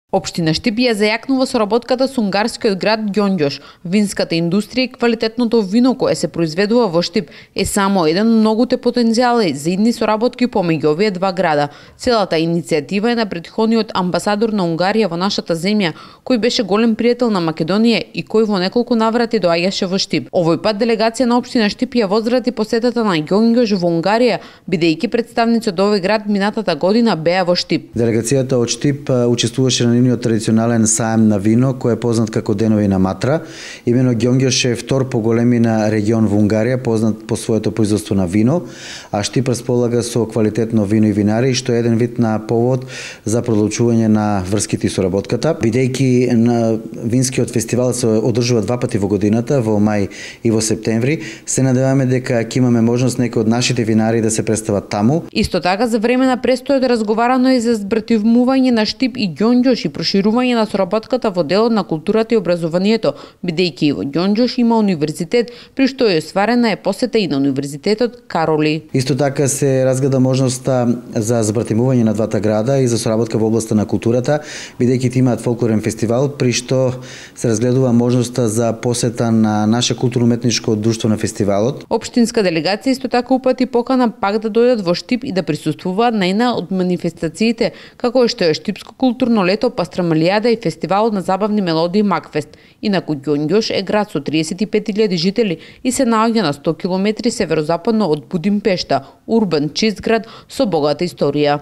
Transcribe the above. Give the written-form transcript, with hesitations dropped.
Општина Штип ја зајакнува соработката со унгарскиот град Ѓонѓош. Винската индустрија и квалитетното вино кое се произведува во Штип е само еден од многуте потенцијали за идни соработки помеѓу овие два града. Целата иницијатива е на претходниот амбасадор на Унгарија во нашата земја, кој беше голем пријател на Македонија и кој во неколку наврати доаѓаше во Штип. Овој пат делегација на општина Штип ја возврати посетата на Ѓонѓош во Унгарија, бидејќи представници од овој град минатата година беа во Штип. Делегацијата од Штип учествуваше на нивниот традиционален саем на вино, кој е познат како Денови на Матра. Имено Ѓонѓош е втор по големина регион во Унгарија, познат по своето производство на вино, а Штип располага со квалитетно вино и винари, што е еден вид на повод за продолжување на врските и соработката. Бидејќи на винскиот фестивал се одржува два пати во годината, во мај и во септември, се надеваме дека ќе имаме можност некои од нашите винари да се представат таму. Исто така за време на престојот разговарано и за збративмување на Штип и Ѓонѓош и проширување на соработката во делот на културата и образованието, бидејќи и во Ѓонѓош има универзитет, при што е сварена посета и на универзитетот Кароли. Исто така се разгледа можноста за збратимување на двата града и за соработка во областа на културата, бидејќи имаат фолклорен фестивал, при што се разгледува можноста за посета на наше културно-уметничко друштво на фестивалот. Општинска делегација исто така упати покана пак да дојдат во Штип и да присуствуваат на една од манифестациите, како што е Штипско културно лето, Пастрамалијада и фестивалот на забавни мелодии Макфест. Инаку Ѓонѓош е град со 35.000 жители и се наоѓа на 100 км северозападно од Будимпешта, урбан чист град со богата историја.